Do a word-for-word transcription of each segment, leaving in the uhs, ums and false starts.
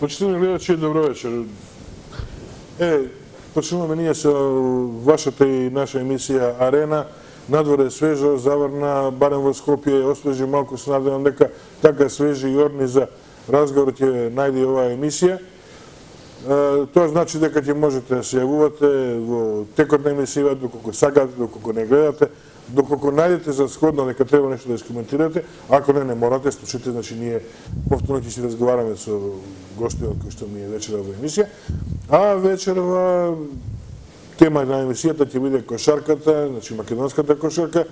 Почитувани гледачи, добро вечер. Е, почнуваме ние со вашата и наша емисија Арена. Надвор е свежо, заврна, барем во Скопје, освежи малку, се надевам дека така свежи и орни за разговор ќе најде оваа емисија. Тоа значи дека ќе можете да се јавувате во текот на емисија, доколку сакате, доколку не гледате, доколку најдете за сходно дека треба нешто да искоментирате, ако не, не морате, слушате, значи ние повторно ќе си разговараме со гостиот кој што ми е вечера во емисија, а вечерва тема на емисијата ќе биде кошарката, значи македонската кошарка,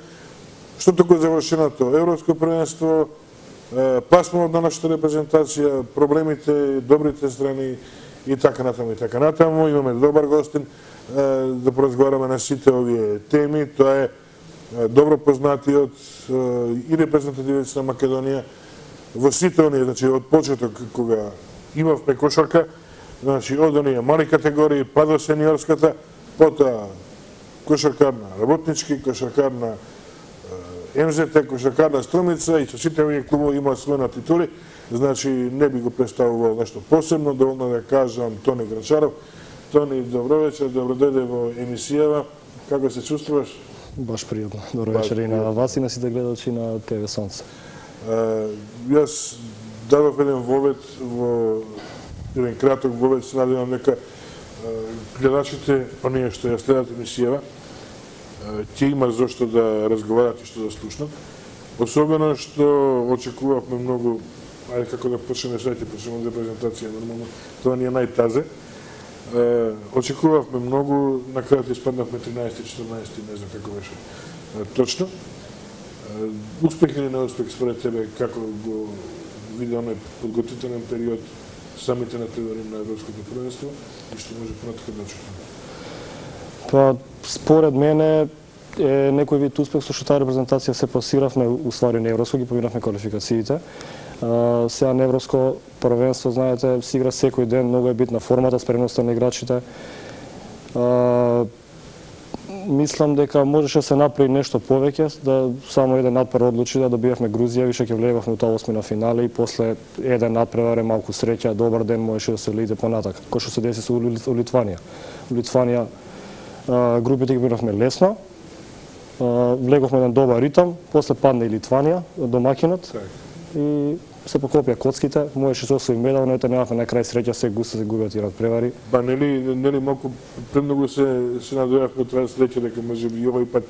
што току завршеното европско првенство, пласманот на нашата репрезентација, проблемите, добрите страни и така натаму и така натаму. Имаме добар гостин да поразговараме на сите овие теми. Тоа е добро познатиот и репрезентативец на Македонија во сите оние, значи од почеток кога имавме кошарка, значи од оние мали категории, па до сениорската, потоа кошаркар на работнички, кошаркар на Ем Зе Те, кошаркар на Струмица и со сите овие клубови имаат своји титули, значи не би го представувал нешто посебно, доволно да кажам Тони Гранчаров. Тони, добро вечер, добро дојде во емисијава. Како се чувствуваш? Баш пријатно. Добро вечер и на вас и на сите гледачи на Те Ве Сонце. Јас дадов еден вовед во еден краток вовед, се надевам дека гледачите, оние што ја следат емисијава, ќе има зошто да разговарат и што да слушнат. Особено што очекувавме многу, ајде како да почнеме сега, ќе почнеме за презентација, нормално, тоа ни е најтазе. Очекувавме многу, на крајот испаднавме тринаесети, четирнаесети, не знам како беше точно. Успех или неуспех според тебе, како го види оној подготвителен период, самите натпревари на европското првенство и што може понатака да очекуваме? Па, според мене е некој вид успех со што таа репрезентација се пласиравме, уствари на европско, ги поминавме квалификациите. Сега на европско првенство, знаете, се игра секој ден, многу е битна формата, спремноста на играчите. Мислам дека можеше да се направи нешто повеќе, да само еден надпревар одлучи да добиевме Грузија, више ќе влегавме у таа осмина финале и после еден надпревар е малку среќа, добар ден можеше да се влезе понатака, кој што се деси со Литванија. Литванија групите ги минавме лесно, влеговме еден добар ритам, после падна и Литванија, домакинот, и се покопија коцките, можеше се освои медал, но ете немавме на крај среќа, се густо се губат и надпревари. Ба нели нели малку премногу се се надојавме од таа среќа дека можеби овој пат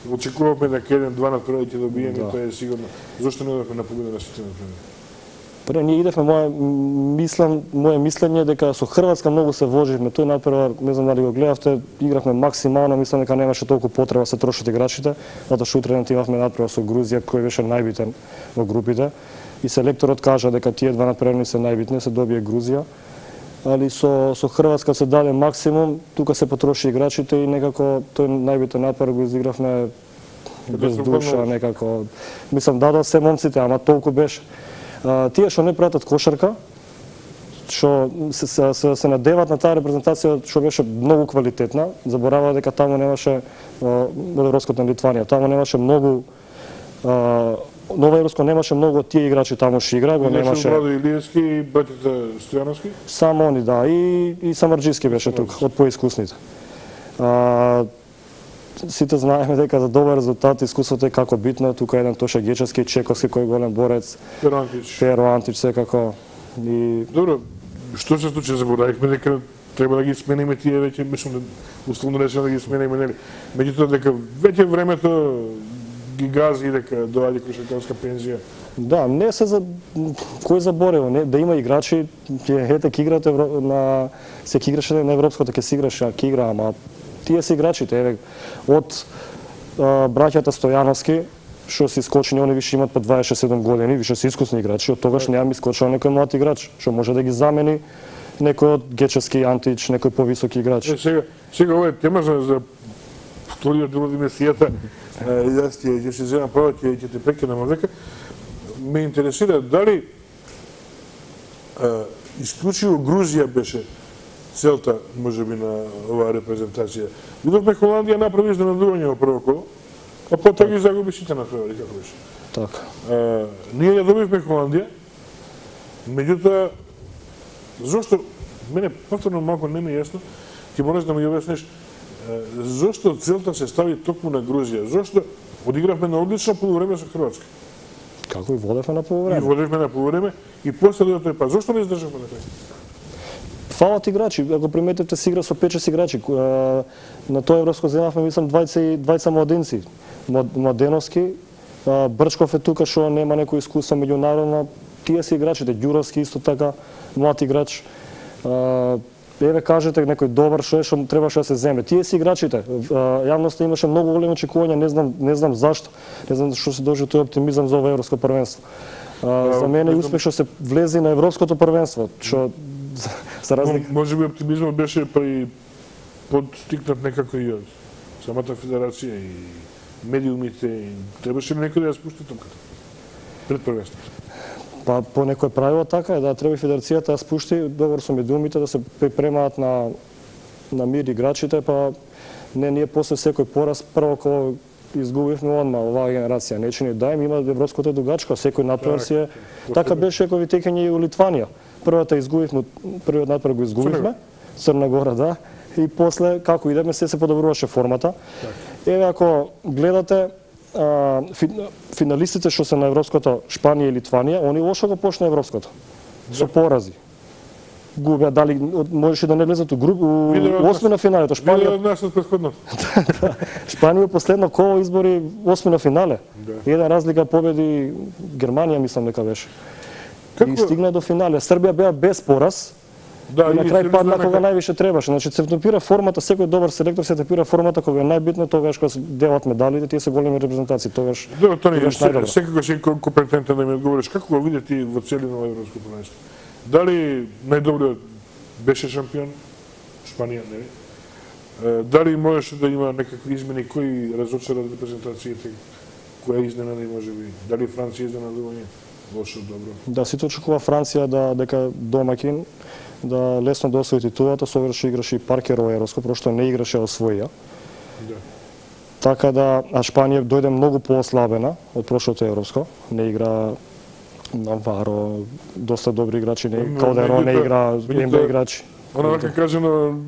очекувавме дека еден два надпревари ќе добиеме, да. Тоа е сигурно. Зошто не одевме на победа на сите надпревари? Пре ние идевме, мое мислам, мое мислење дека со Хрватска многу се вложивме. Тој надпревар, не знам дали го гледавте, игравме максимално, мислам дека немаше толку потреба се трошат играчите, затоа што утре имавме надпревар со Грузија кој беше најбитен во групите. И селекторот кажа дека тие два надпревари се најбитни, се добие Грузија. Али со со Хрватска се даде максимум, тука се потроши играчите и некако тој најбитен надпревар го изигравме без душа, некако. Мислам дадоа се момците, ама толку беше. Тие што не пратат кошарка, што се, се, се, се надеват на таа репрезентација што беше многу квалитетна, забораваа дека таму немаше европското на Литванија, таму немаше многу Нова Европско немаше многу од тие играчи таму што игра, го немаше. Владо Илиевски и братите Стојановски? Само они, да, и и Самарџиски беше тук од поискусните. А, сите знаеме дека за добар резултат искуството е како битно, тука еден Тоше Гечевски, Чековски кој е голем борец. Перо Антич. Перо Антич секако. И добро, што се случи, заборавивме дека треба да ги смениме тие веќе, мислам, условно речено да ги смениме, нели. Меѓутоа дека веќе времето ги гази дека доаѓа кошаркарска пензија. Да, не се за кој заборел, не да има играчи, ќе ете ќе играат на се ќе играше на европското, ќе се играше, ќе игра, ама тие се играчите, еве од а, браќата Стојановски што се искочени, они више имаат по дваесет и седум години, више се искусни играчи, од тогаш немам искочил некој млад играч, што може да ги замени некој од Гечевски, Антич, некој повисоки играч. Е, сега, сега ова е тема за, за вториот дел од емисијата. Јас ќе ќе се земам право, ќе ќе те прекинам дека ме интересира дали а, исклучиво Грузија беше целта можеби на оваа репрезентација. Видовме Холандија направи изненадување во прво коло, а потоа ги загуби сите надпревари, како беше. Така. А, ние ја добивме Холандија, меѓутоа Зошто, мене повторно малку не ми е јасно, ти мораш да ми објасниш, зошто целта се стави токму на Грузија? Зошто одигравме на одлично полувреме со Хрватска? Како и водевме на И полувреме. водевме на полувреме и после дојде тој па зошто не издржавме на крај? Фалат играчи, ако приметите се игра со пет-шест играчи. На тоа европско земавме мислам двајца младенци, Младеновски, Брчков е тука што нема некој искуство меѓународно, тие се играчите, Ѓуровски исто така, млад играч. Еве кажете некој добар што е што требаше да се земе. Тие се играчите. Јавноста имаше многу големи очекувања, не знам, не знам зашто. Не знам што се дожи тој оптимизам за ова европско првенство. За мене успех што се влези на европското првенство, што за разлика. Може би оптимизмот беше па и подстикнат некако и од самата федерација и медиумите. И требаше ли некој да ја спушти топката пред првенството? Па по некој правило така е, да треба федерацијата да спушти договор со медиумите да се припремаат на на мир играчите, па не ние после секој пораз прво кога изгубивме одма оваа генерација, не че ни дајм, има европското дугачко, секој натпревар си е. Така беше кој текање и у Литванија. Првата изгубивме, првиот натпревар го изгубивме, Црна Гора, да, и после како идеме се се подобруваше формата. Еве ако гледате а, финалистите што се на европското, Шпанија и Литванија, они лошо го почна европското. Со порази. Губеа, дали можеше да не влезат у груп, у осми на финалето. Шпанија Шпанија од нас од претходно. Шпанија последно коло избори осми на финале. Еден разлика победи Германија, мислам дека беше. И стигна до финале. Србија беа без пораз. Да, и на крај падна кога највише требаше. Значи се тепира формата, секој добар селектор се тепира формата кога е најбитно, тогаш кога се делат медалите, тие се големи репрезентации, тогаш. Да, Тони, најдобро. секако си компетентен да ми одговориш, како го види ти во целина во европско првенство? Дали најдобриот беше шампион Шпанија, нели? Дали можеше да има некакви измени, кои разочара репрезентациите, која изненади можеби? Дали Франција изненадување? Лошо, добро. Да, сите очекува Франција да дека домакин да лесно да освои титулата, со овој што играше и Паркер во европско, прошто не играше освоија. Да. Така да, а Шпанија дојде многу поослабена од прошлото европско, не игра Наваро, доста добри играчи, не, Калдерон не игра, Ембе играчи. Она вака кажено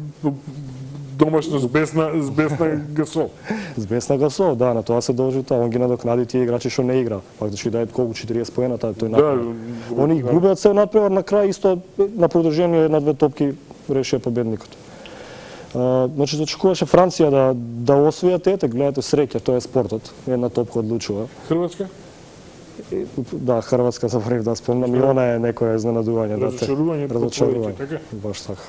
домашно с бесна, с бесна Гасол. С бесна Гасол, да, на тоа се должи тоа. Он ги надокнади тие играчи што не игра. Фактички дај колку четириесет поена таа тој напред. Да, Они губеат се надпревар на крај исто на продолжение една-две топки решија победникот. Uh, значи, очекуваше Франција да да освојат ете, гледате среќа, тоа е спортот. Една топка одлучува. Хрватска? Да, Хрватска заборев да спомнам и она е некое изненадување. Разочарување, разочарување. така? Баш така.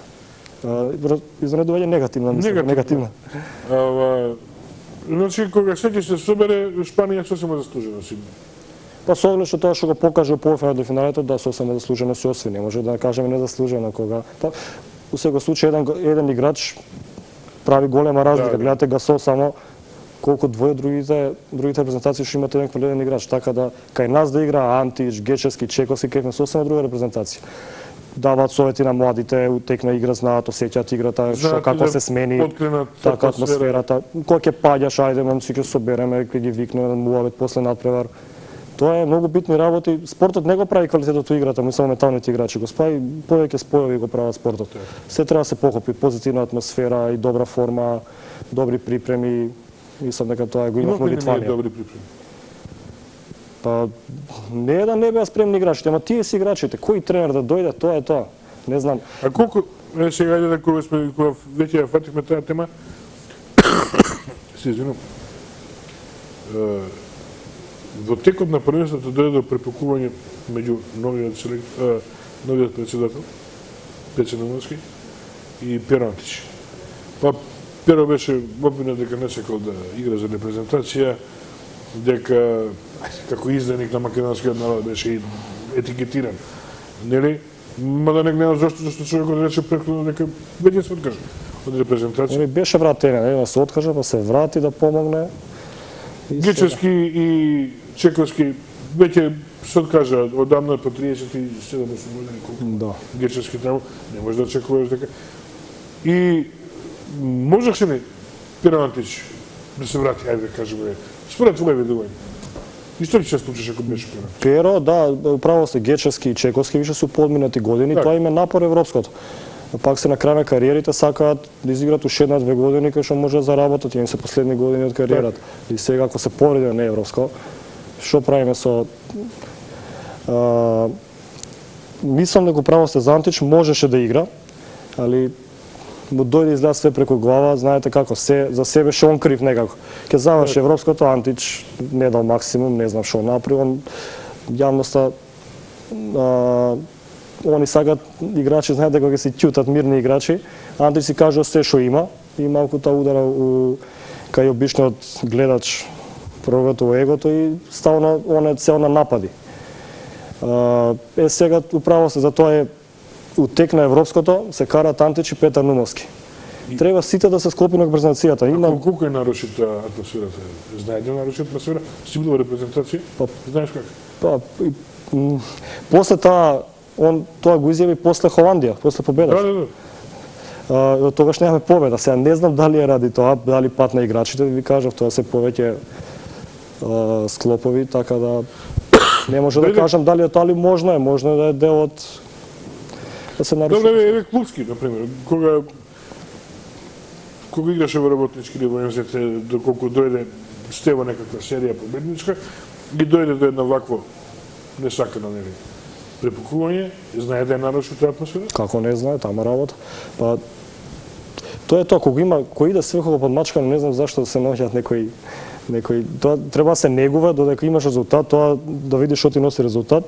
Uh, изненадување негативно, мислам, негативно. Ава, значи, кога секој се собере, Шпанија сосема заслужено си. Па со оглед што тоа што го покажа полуфиналот до финалето, да, сосема заслужено се освои. Не може да кажеме незаслужено кога. Па, у секој случај еден еден играч прави голема разлика. Да, гледате Гасол само колку двоje другите другите репрезентации што имат еден квалитетен играч, така да кај нас да игра Антич, Гечевски, Чековски, кај сосема друга репрезентација. Даваат совети на младите, утекна игра, знаат, осеќаат играта, што како се смени, така атмосферата. Кога ќе паѓаш, ајде момци ќе собереме, ќе ги викнеме на муавет после надпревар. Тоа е многу битни работи. Спортот не го прави квалитетот во играта, само менталните играчи го прави, повеќе спојови го прават спортот. Се треба да се покопи, позитивна атмосфера и добра форма, добри припреми. Мислам дека тоа го имавме во Литванија. Добри припреми. Па не е да не беа спремни играчите, ама тие си играчите. Кој тренер да дојде, тоа е тоа. Не знам. А колку е сега да кога сме кога веќе ја фативме таа тема. Се извинувам. Во текот на првенството дојде до препукување меѓу новиот селектор, новиот претседател Пеце Наумовски и Перо Антич. Па Перо беше обвинет дека не сакал да игра за репрезентација, дека како изданик на македонскиот народ беше етикетиран. Нели? Мада не гледам зашто, зашто човекот рече претходно дека веќе се откажа од репрезентација. Ами беше вратен, не се откажа, па се врати да помогне. Гечевски и Чековски веќе се откажа одамна по триесет и седум години колку. Да. Гечевски таму не може да очекуваш дека. И можеше ли Перо Антич да се врати, ајде да кажеме, според твој видување? Исто ли се случиш ако беше Перо? Перо, да, управо се Гечевски и Чековски више су подминати години, Так. тоа им е напор европското. Пак се на крај на кариерите сакаат да изиграат уште една-две години кај што може да заработат, им се последни години од кариерата. И сега ако се пореди на европско, што правиме со а, мислам дека право се Антич можеше да игра, али му дојде изгледа све преку глава, знаете како, се за себе ше он крив некако. Ке заврши европското, Антич не дал максимум, не знам што направи, он јавноста а, они сакат играчи, знаете кога се ќутат мирни играчи, Антич си кажува се што има и малку та удара у кај обичниот гледач првото егото и ставно он е цел на напади. А, е сега управо се за тоа е утек на европското се караат Антич и Петар Нумовски. Треба сите да се склопи на презентацијата. Има колку е нарушита атмосферата? Знаете нарушита атмосфера? Си бил во репрезентација? Па, знаеш как? Па, и, м, после таа он тоа го изјави после Холандија, после победата. Да, да, да. А, тогаш немаме победа. Сега не знам дали е ради тоа, дали пат на играчите, ви кажав, тоа се повеќе а, склопови, така да не може да кажам дали е тоа, али можно е, можно е да е дел од да се наруши. Добре, еве клубски, например, кога кога играше во работнички или во М З Т, доколку дојде стева некаква серија победничка, ги дојде до една вакво несакано, нели, препукување, знае да е наруши таа атмосфера? Како не знае, тама работа. Па, тоа е тоа, кога има, кој иде сврхово подмачкано, не знам зашто да се наоѓаат некои некои тоа треба да се негува додека имаш резултат, тоа да видиш што ти носи резултат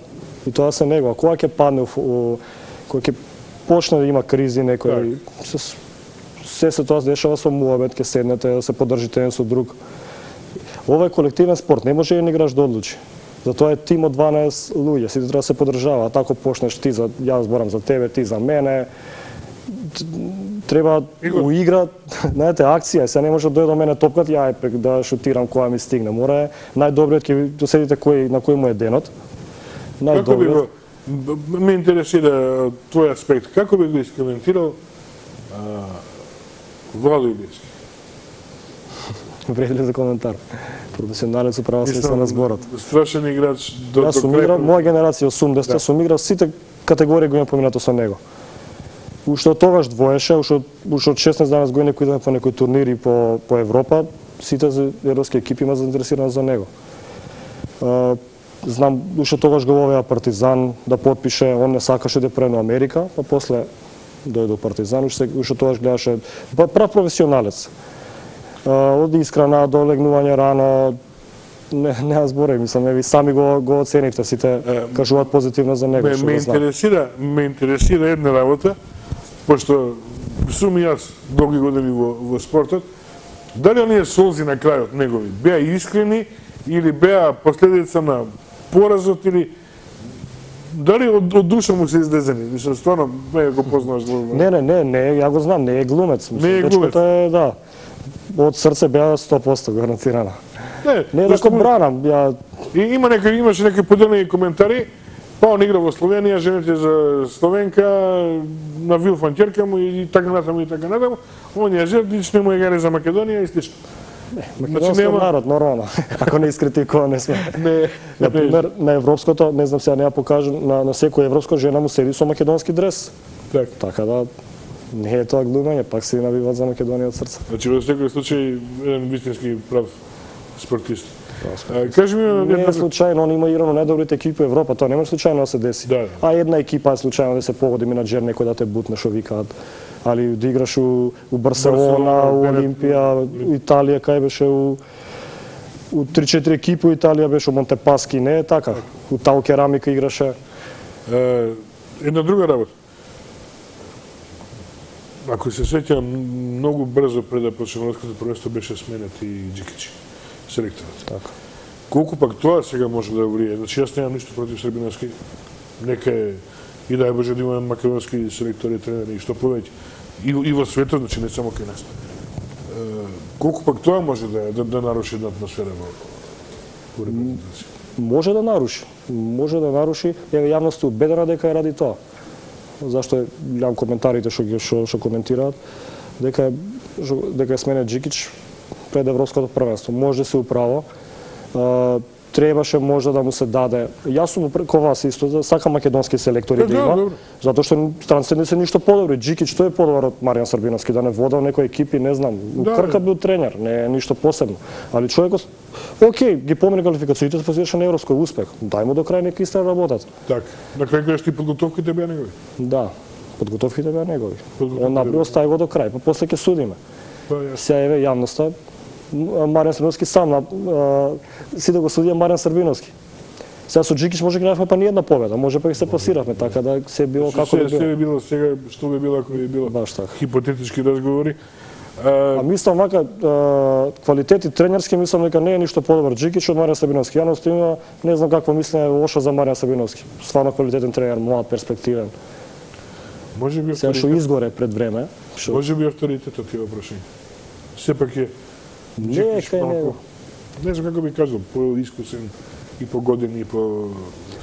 и тоа се негува. Кога ќе падне кога ќе почне да има кризи некој се се се тоа се дешава со муабет, ќе седнете да се поддржите еден со друг. Ова е колективен спорт, не може еден играч да одлучи. Затоа е тим од дванаесет луѓе, сите треба да се поддржаваат. Ако почнеш ти за јас зборам за тебе, ти за мене, треба у игра, знаете, акција, се не може да дојде до мене топкат, ја е да шутирам која ми стигне. Мора е најдобриот ќе доседите кој на кој му е денот. Најдобриот. Ме интересира твој аспект. Како би го искоментирал Владо Илиевски? Вредли за коментар. Професионалец управа смисла на зборот. Страшен играч до Јас сум играл, моја генерација осумдесета, сум играл сите категории го имам поминато со него. Уште од тогаш двоеше, уште уште од шеснаесет години кои идеме по некои турнири по по Европа, сите европски екипи има заинтересирани за него. А, знам уште тогаш го вовеа Партизан да потпише, он не сакаше да прено Америка, па после дојде до Партизан, уште уште тогаш гледаше прав професионалец. Од искрана до легнување рано, не не зборам, мислам, ви сами го го оценивте, сите кажуваат позитивно за него. Ме, ме интересира, ме интересира една работа, пошто сум и јас долги години во, во спортот, дали оние солзи на крајот негови беа искрени или беа последица на поразот или дали од, од душа му се излезени? Мислам, стварно, не го познаваш глумец. Не, не, не, не, ја го знам, не е глумец. Не е глумец. Е, да. Од срце беа сто посто гарантирана. Не, не да го бранам, ја и има некои имаше некои поделени коментари. Па он игра во Словенија, жените за Словенка, на Вилфан ќерка му и така натаму и така натаму. Он ја жертвич, не му е гаре за Македонија и слично. Македонски нема... народ, нормално. Ако не искритикува, не сме. Не, Например, на европското, не знам сега, не ја покажам, на, на секој европско жена му седи со македонски дрес. Так. Така да, не е тоа глумење, пак се навиват за Македонија од срце. Значи, во секој случај, еден вистински прав спортист. А, кажи ми, не е случајно, он има играно најдобрите екипи во Европа, тоа не може случајно да се деси. Да. А една екипа е случајно да се погоди менаџер некој да те бутне, што викаат. Али да играш у, у Барселона, у Олимпија, у Италија, кај беше у у три-четири екипи у Италија беше у Монтепаски, не е така. У Тау Керамика играше. Е, една друга работа. Ако се сеќавам, многу брзо пред да почне европското првенство беше сменет и Џикич, селекторот. Така. Колку пак тоа сега може да влие? Значи јас немам ништо против србиновски. Нека е и дај Боже да имаме македонски селектори и тренери и што повеќе. И, и во светот, значи не само кај нас. Е, колку пак тоа може да да, да наруши една атмосфера во, во репрезентација? Може да наруши. Може да наруши. Еве јавноста е убедена дека е ради тоа. Зашто гледам коментарите што ги што, што коментираат дека дека е сменет Џикич пред европското првенство. Може да се управо. требаше можда да му се даде. Јас сум преко вас исто, сакам македонски селектори да има, затоа што странците не се ништо подобри. Джикич тој е подобар од Маријан Србиновски, да не водел некои екипи, не знам. Да, Крка бил тренер, не е ништо посебно. Али човекот, окей, ги помине квалификациите, постигаше на европски успех. Дај му до крај нека истра работат. Так, на крај кажеш ти подготовките беа негови. Да, подготовките беа негови. Он направи, остави го до крај, па после ќе судиме. Сега еве јавноста, Маријан Србиновски сам на си да го судија Маријан Србиновски. Сега со Джикич може гравме па ни една победа, може па и се пласиравме, така да се било како би било. Се било сега, што би било ако би било. Баш така. Хипотетички разговори. А мислам вака квалитети тренерски мислам дека не е ништо подобар Джикич од Маријан Србиновски. Јавноста има не знам какво мислење лошо за Маријан Србиновски. Стварно квалитетен тренер, млад, перспективен. Може би сега што изгоре пред време. Шо... Може би авторитетот ти прашање. Сепак е не е кај него. Не знам како би кажал, поискусен и по години и по...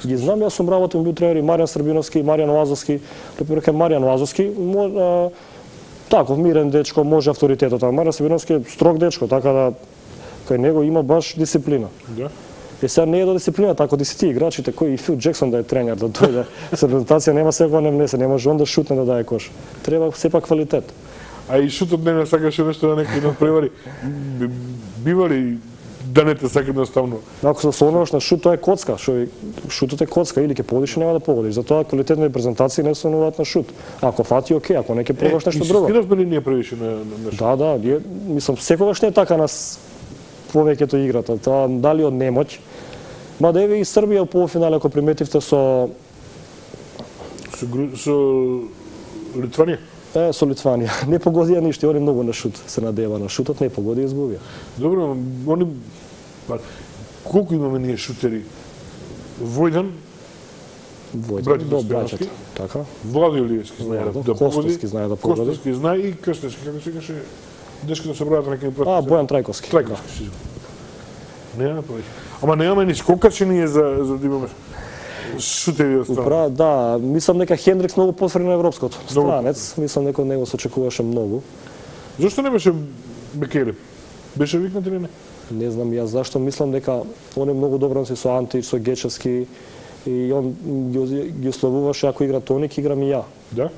Ги знам, јас сум работен бил тренер и Маријан Србиновски и Маријан Лазовски. Препорека Маријан Лазовски, може таков мирен дечко, може авторитетот, а Маријан Србиновски е строг дечко, така да кај него има баш дисциплина. Да. Е сега не е до дисциплина, така да си ти играчите, кој и Фил Джексон да е тренер, да дојде со презентација нема секој не внесе, не може он да шутне да даде кош. Треба сепак квалитет. А и шутот не не сакаше нешто да некој надпревари. Бива ли да не те сака едноставно? Ако се осоноваш на шут, тоа е коцка, што шутот е коцка, или ќе погодиш, нема да погодиш. Затоа квалитетни презентации не се основуваат на шут. Ако фати, окей, ако не ќе пробаш нешто друго. Инсистиравме ли ние превише на на шут? Да, да, ние мислам секогаш не е така на повеќето играта. Тоа дали од немоќ. Ма да еве и Србија у полуфинале, ако приметивте со со, со Литванија. Е, со Литванија. Не погодија ништо, они многу на шут се надева на шутот, не погоди и изгубија. Добро, они па колку имаме ние шутери? Војдан, Војдан, до браќата, така. Влади Илиевски знае да, да погоди. Костовски знае да погоди. Костовски знае и Крстевски, како се каже, дечката се браат некој професор. А, Бојан Трајковски. Трајковски, си. Нема повеќе. Ама немаме ни скокачи ние за за да имаме шутери од страна. Упра, да, мислам дека Хендрикс многу потврди на европското. Странец, мислам дека од него се очекуваше многу. Зошто не беше Бекеле? Беше викнат или не? Не знам јас зашто, мислам дека он е многу добро со Антич, со Гечевски и он ги, ги условуваше ако игра Тоник, играм и ја. Да?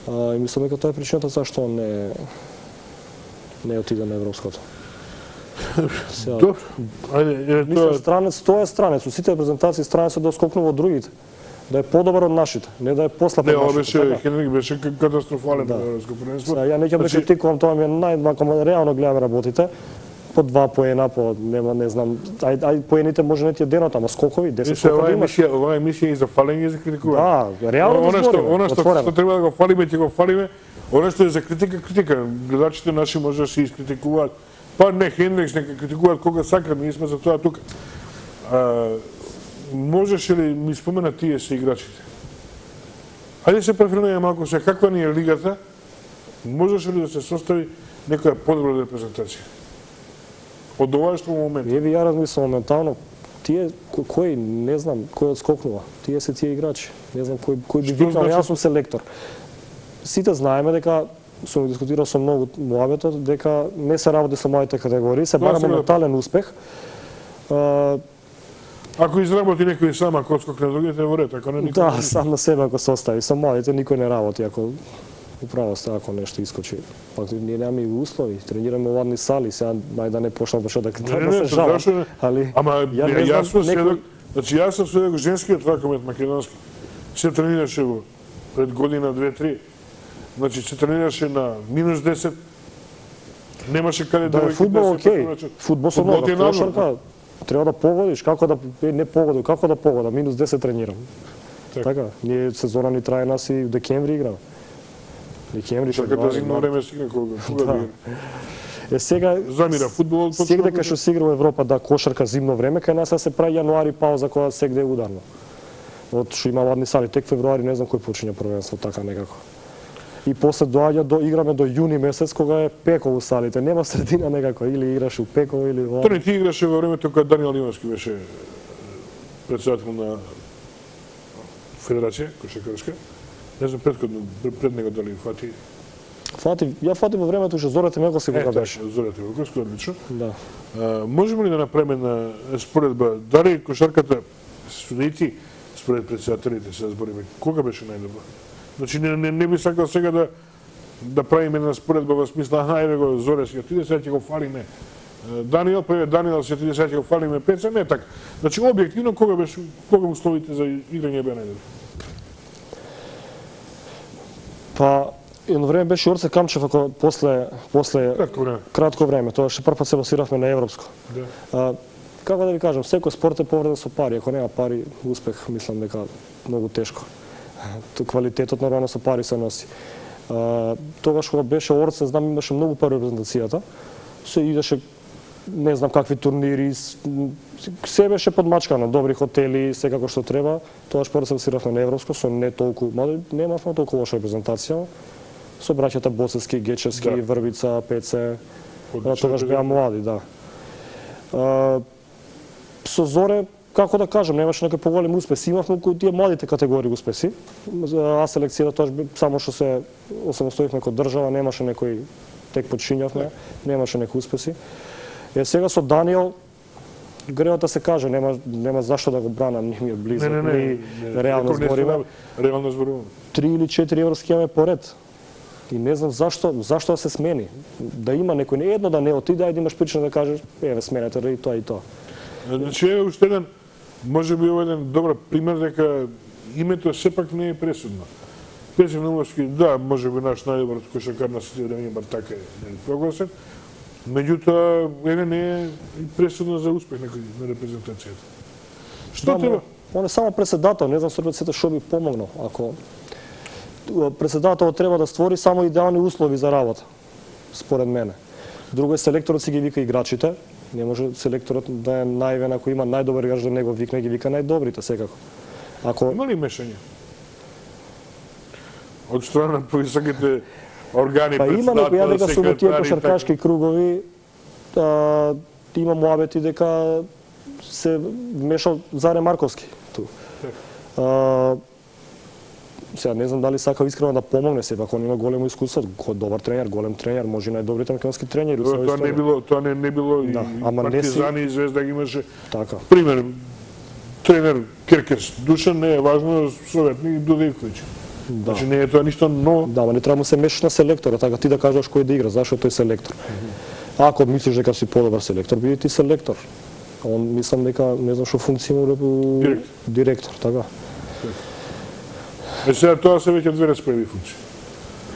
А, и мислам дека тоа е причината зашто он не не отиде на европското. Добро. Ајде, мислам странец, тоа е странец. Со сите презентации странец да скокнува од другите. Да е подобар од нашите, не да е послаб од нашите. Не, беше така? Хенрик беше катастрофален да. на европско првенство. Ја не ќе ме критикувам, тоа ми е најмако реално гледаме работите. По два поена, по нема не знам, ај ај поените може не ти е денот, ама скокови, десет скокови имаш. Емисија, оваа емисија и за фалење и за критикување. Да, реално да збориме. Она што, што треба да го фалиме, ќе го фалиме. Она што е за критика, критика. Гледачите наши може да се искритикуваат. Па не Хендрикс, нека критикуваат кога сакат, ние сме за тоа тука. А, можеше ли ми спомена тие се играчите? Ајде се префренуја малку се каква ни е лигата, можеше ли да се состави некоја подобра репрезентација? Од ова што во момент. Еве ја размислам моментално, тие кој не знам кој одскокнува, тие се тие играчи. Не знам кој кој би викнал, значи... јас сум селектор. Сите знаеме дека сум дискутирал со многу муабето дека не се работи со моите категории, се бара моментален успех. А, ако изработи некој сам, ако отскокне другите, во ред, ако не никој. Да, сам на себе ако се остави, со младите никој не работи, ако управо сте ако нешто искочи. Пак ние немаме и услови, тренираме во ладни сали, сега нај да не почнам почнам да да се жалам. Али ама јас сум сведок, значи јас сум сведок женскиот ракомет македонски. Се тренираше во пред година две-три. Значи се тренираше на минус десет. Немаше каде да да фудбал окей. Фудбал со нога, кошарка. Треба да погодиш, како да не погоди, како да погода, минус десет тренирам. Так. Така, ние сезона ни трае нас и в декември играме. Декември што да зимно време си кога кога да. Е сега замира фудбалот почнува. Сега дека што се игра во Европа да кошарка зимно време, кај нас се прави јануари пауза кога сегде е ударно. Од што има ладни сали, тек февруари не знам кој почиња првенство така некако. И после доаѓа до играме до јуни месец кога е пеково салите, нема средина некако, или играш у пеково или во. Тони ти играше во времето кога Даниел Ивански беше претседател на Федерација кошаркарска. Не знам предходно пред него дали фати. Фати, ја фати во времето уште Зорете Мелковски кога беше. Зорете Мелковски, одлично. Да. А, можеме ли да направиме една споредба, дали кошарката судејци според претседателите се збориме, кога беше најдобро? Значи не, не, не би сакал сега да да правиме една споредба во смисла, ајде го Зоре сега ти сега ќе го фалиме. Даниел, па Даниел сега ти сега ќе го фалиме Пеца, не така. Значи објективно кога беше кога условите за играње беа најдобро? Па едно време беше Орце Камчев, ако после после Кратко време. Кратко време, тоа што прв пат се басиравме на европско. Да. А, како да ви кажам, секој спорт е поврзан со пари, ако нема пари, успех мислам дека многу тешко. То квалитетот нормално со пари се носи. А, тогаш кога беше Орце, знам имаше многу пари репрезентацијата. Се идеше не знам какви турнири, се беше подмачкано, добри хотели, секако што треба. Тогаш прво се басиравме на европско со не толку, мада немавме толку лоша репрезентација. Со браќата Боцевски, Гечевски, Да. Врбица, Пеце. Одлична Тогаш беа млади, да. А, со Зоре, како да кажам, немаше некои поголеми успеси. Имавме кои тие младите категории успеси. А селекцијата тоа само што се осамостоивме како држава, немаше некои тек почињавме, немаше некои успеси. Е сега со Даниел греот да се каже, нема нема зашто да го бранам, ни ми е близо, Не, не, не, ни не, реално не, не, збориме. Реално зборуваме. Три или четири европски имаме поред. И не знам зашто, зашто да се смени. Да има некој, не едно да не отиде, ајде имаш причина да кажеш, еве сменете и тоа и тоа. Значи е уште еден, може би ова еден добар пример дека името сепак не е пресудно. Петр Наумовски, да, може би наш најдобар кошаркар на сите време, бар така е прогласен. Меѓутоа, еве не е пресудно за успех на, на репрезентацијата. Што Да, треба? Он е само председател, не знам сорбеците што би помогнал. Ако председателот треба да створи само идеални услови за работа, според мене. Друго е селекторот си ги вика играчите, не може селекторот да е наивен ако има најдобар играч да него викне, ги вика најдобрите секако. Ако Има ли мешање? Од страна на повисоките органи, па има некои, ја дека со тие секретари, кошаркашки кругови а, има муабети дека се вмешал Заре Марковски ту. А, сега не знам дали сакал искрено да помогне, сепак он има големо искуство, добар тренер, голем тренер, може и најдобрите македонски тренери. Тоа, тоа не било, тоа не, не било Да, и ама не си- Партизани и Звезда ги имаше. Така. Пример, тренер Керкерс Душан не е важно, советник Дудејковиќ. Да. Значи не е тоа ништо, но Да, ама не треба му се мешаш на селектора, така ти да кажеш кој да игра, зашто тој селектор. Ако мислиш дека си подобар селектор, биди ти селектор. А он мислам дека не знам што функција му репу- Директор. директор, така. е сега тоа се веќе две распреди функции.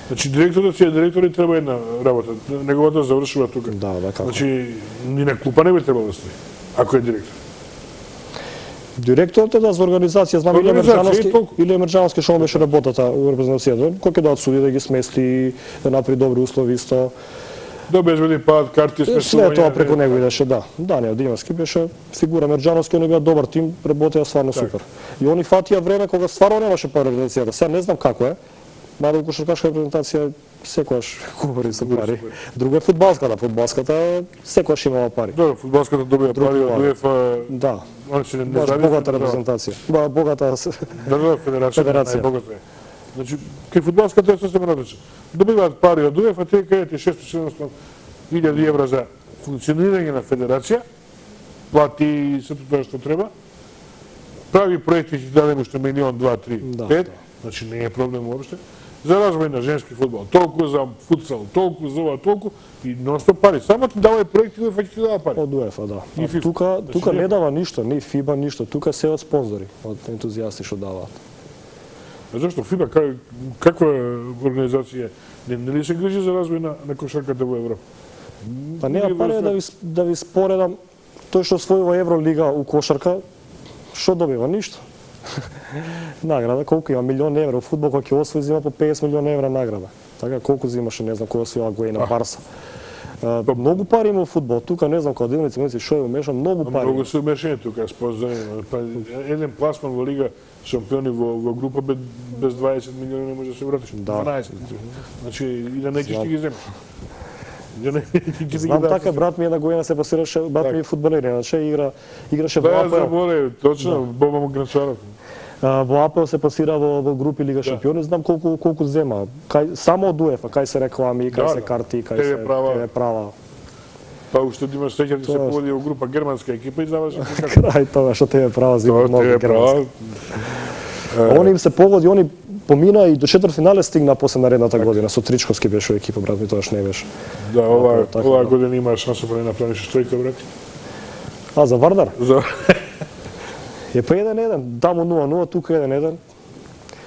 Значи директорот си е директор и треба една работа. Неговата завршува тука. Да, да, како. Значи ни на клупа не би требало да стои, ако е директор. Директорот е да за организација, знам или Организација, Емерџановски, и толку. или Емерџановски што му беше работата у репрезентацијата, кој ќе дадат суди да ги смести, да направи добри услови исто. Да обезбеди пат, карти, Све смесување. тоа преку него идеше, да. Даниел Димовски беше фигура, Емерџановски, они беа добар тим, работеа стварно супер. И они фатија време кога стварно немаше пари репрезентацијата. Сега не знам како е, мада кошаркашка репрезентација секогаш говори за пари. Друго е фудбалската, фудбалската секогаш имала пари. Да, фудбалската добија пари од УЕФА, Да, он се не баш зависи, богата да. репрезентација. Ба, богата Да, да, федерација, Федерација. најбогата е. Значи, кај фудбалската е сосема различна. Добиваат пари од УЕФА, тие кајат шесто-седумстотини илјади евра за функционирање на федерација, плати сето тоа што треба, прави проекти ќе дадем уште милион, два, три, Да, пет, да. значи не е проблем уопште. За развој на женски фудбал, толку за футсал, толку за ова, толку и нонстоп пари. Само ти давај проекти, УЕФА ќе ти дава пари. од УЕФА, да. И А ФИФА. тука Значи, тука не- не дава ништо, ни ФИБА ништо, тука се од спонзори, од ентузијасти што даваат. А зашто ФИБА ка- каква организација не, не ли се грижи за развој на, на кошарката во Европа? Па нема пари да ви да ви споредам тој што освојува Евролига у кошарка, што добива ништо. Награда колку има милион евра, у фудбал кој ќе освои зима по петдесет милиона евра награда. Така колку земаше, не знам кој освоила го на Барса. А, многу пари има у фудбал, тука не знам кога дилници, мислам што е умеша, многу пари. Многу се умешени тука, спознани. Па, еден пласман во Лига шампиони во, во група без, без дваесет милиони не може да се вратиш. Да. дванаесет. Значи, и да неќеш ти ги земеш. Да не, ти ги Знам дадеш. така, брат ми една година се пасираше, брат ми е фудбалер, иначе игра, играше во Да, АПЛ. заборе, точно, Боба Гранчаров. А, во АПЛ се пасира во, во групи Лига шампиони, знам колку колку зема. Кај само од УЕФА, кај се реклами, кај Да, се да. карти, кај Те се ве права. те ве права. Па уште да имаш среќа да се Тоа е. поводи во група германска екипа и заврши како. Крај тоа што те ве права зема Тоа многу те е германски. права. Они им се погоди, они помина и до четвртфинале стигна после наредната година. Со Тричковски беше во екипа, брат ми тоа што не беше. Да, ова Така, оваа да. година има шанса да не направиш тројка, брат. А за Вардар? За Е па еден еден, таму нула нула, тука еден еден.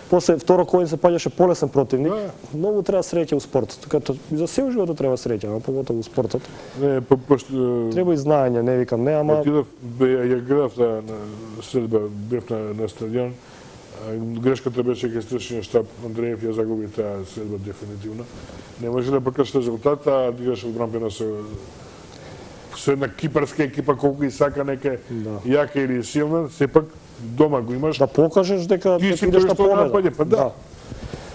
После второ кој се паѓаше полесен противник. Да. Многу треба среќа у спортот. Така то и за сел животот треба среќа, а поготово у спортот. не по пошто Треба и знаење, не викам не, ама отидов бе ја гледав на на средба, бев на на стадион. А, Грешката беше кај стршниот штаб, Андреев ја загуби таа средба дефинитивно. Не може да покаже резултат, а да играше одбранбено со со една кипарска екипа колку и сака нека Да. јака или силна, сепак дома го имаш. да покажеш дека Ти дека си идеш тој на што победа. напаѓа, па да.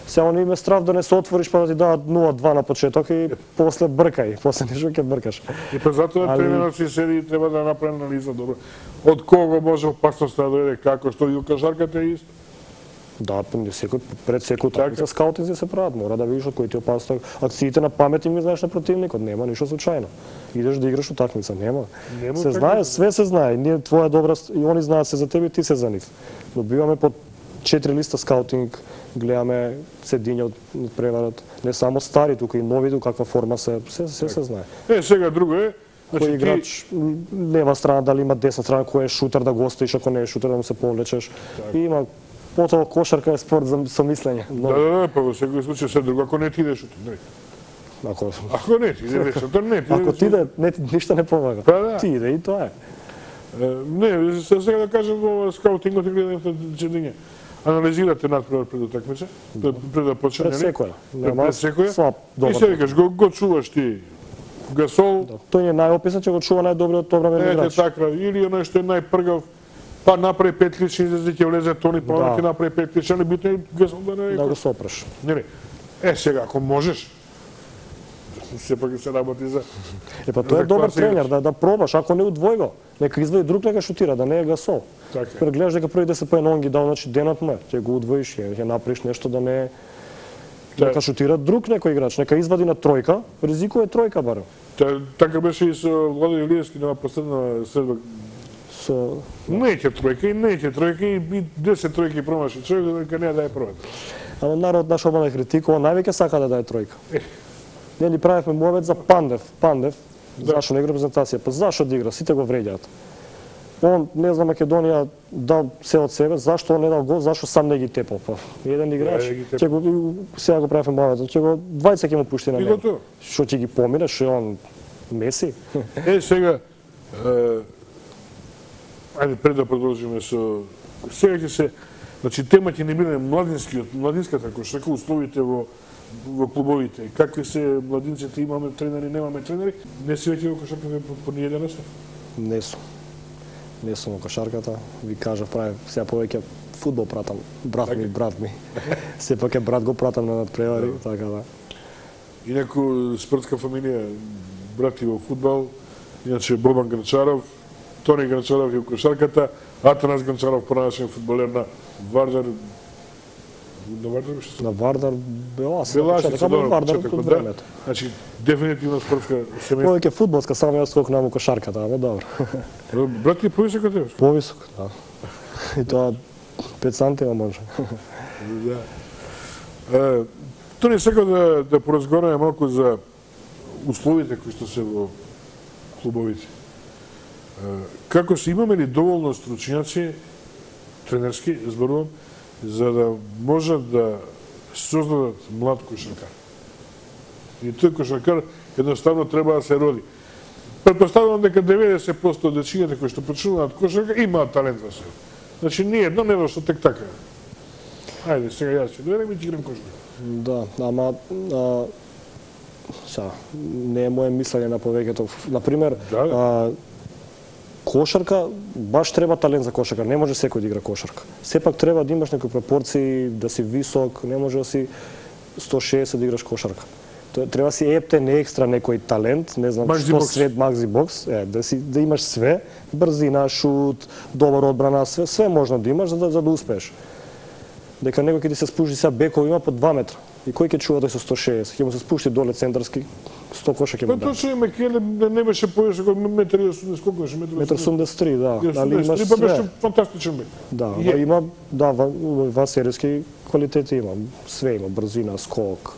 Сега не име страв да не се отвориш па да ти дадат нула два на почеток и после бркај, после нешто ќе бркаш. И па затоа Али- тренерот си седи и треба да направи анализа добро. Од кого може опасност да дојде, како, што и у кошарката е исто. Да, па не секој пред секој Така. такмица скаутинзи се прават, мора да видиш од кој ти е опасност. Акциите на памет им ги знаеш на противникот, нема ништо случајно. Идеш да играш утакмица, нема. Нема се така. знае, све се знае. Ние твоја добра и они знаат се за тебе и ти се за нив. Добиваме по четири листа скаутинг, гледаме седиња од од преварот, не само стари, тука и нови, тука каква форма се, се се, се знае. Е, сега друго е, Кој значи ти играч м, лева страна, дали има десна страна, кој е шутер да го оставиш, ако не е шутер да му се повлечеш. И има потоа кошарка е спорт за со мислење. да, Но, да, да, па во секој случај се друго, ако не ти идеш утре, не. ако Ако не ти идеш утре, не ти. ако идеш ти да не ти ништо не помага. Па да. Ти иде и тоа е. Е, Не, се- сега да кажем во скаутингот и гледате чедиња. Анализирате надпревар пред утакмица, пред пред да почне. Пред нели? секоја. Пред Нема секоја. слаб, И добар. се викаш, го, го чуваш ти Гасол, Тој е најописан че го чува најдобриот одбранбен ете играч. така, или оној што е најпргав, па направи пет лични излези, ќе влезе Тони, па Да. ќе направи пет лични, али битно е Гасол да не Да е. го сопреш. Не, не. Е, сега, ако можеш, сепак се работи за... Е па тој За е добар класа тренер, играч. да да пробаш, ако не удвој го, нека извади друг нека шутира, да не е Гасол. Така е. Кога гледаш дека први десет поена он ги дал, значи денот му е, ќе го удвоиш, ќе ќе направиш нешто да не Да. нека шутира друг некој играч, нека извади на тројка, ризикува тројка барем. Та, така беше и со Владо Илиевски на последна средба. Со Не ќе тројка и не ќе тројка и и десет тројки промаши човек дека не да е првата. Ама народ наш обмана критикува, највеќе сака да даде тројка. Не ни правевме муавет за Пандев, Пандев, зашо не игра презентација, па зашо да игра, сите го вреѓаат. Он, не знам, Македонија дал се од себе, зашто он не дал гол, зашо сам не ги тепал, па. Еден играч, Да, ги тепал. ќе го сега го правевме муавет, ќе го двајца ќе му пушти на И него. готово. Што ќе ги помине, што е он Меси? Е, сега, е, ајде пред да продолжиме со... Сега ќе се... Значи, тема ќе не биде младинскиот, младинската кошарка, условите во во клубовите. Какви се младинците, имаме тренери, немаме тренери, не си веќе во кошарката по, по ниједен настав. Не сум. Не сум во кошарката. Ви кажав, прави сега повеќе фудбал пратам. Брат ми, брат ми. Сепак е брат го пратам на надпревари, така да. Инаку спортска фамилија, брати во фудбал, иначе Бобан Грачаров, Тони Грачаров и во кошарката, Атанас Грачаров, поранашен фудбалер на Вардар, на Вардар беше На Вардар бела се Белашица, почеток, ама добро, Вардар почетокот, од да. времето. Значи, дефинитивно спортска семејство. Повеќе фудбалска, само јас скокнам во кошарката, ама добро. Брат ти е повисок од тебе? Повисок, да. И тоа пет сантима може. Да. Е, Тони сака да, да поразговараме малку за условите кои што се во клубовите. Е, Како се имаме ли доволно стручњаци, тренерски, зборувам, за да можат да создадат млад кошаркар? И тој кошаркар едноставно треба да се роди. Предпоставувам дека деветдесет проценти од дечињата кои што почнуваат кошарка имаат талент во себе. Значи, не едно не што тек така. Ајде, сега јас ќе дојдем и ќе играм кошарка. Да, ама а, са, не е моje мислење на повеќето. Например, Да, да. а, кошарка, баш треба талент за кошарка, не може секој да игра кошарка. Сепак треба да имаш некои пропорции, да си висок, не може да си сто шесет да играш кошарка. Тоа треба си ептен екстра некој талент, не знам Maxi што box. свет Maxi box, е, да си да имаш све, брзина, шут, добра одбрана, све, све можно да имаш за да, за да успееш. Дека некој ќе ти се спушти сега бекови има по два метра. И кој ќе чува да со сто шеесет, ќе му се спушти доле центарски, сто коша ќе му Па даде. точно има Келе не беше повеќе од метар и осумдесет, колку беше метар? Метар осумдесет и три, да. Али имаш Па беше све. фантастичен бек. Да, Е. ама има да ва- вансериски квалитети има, све има, брзина, скок.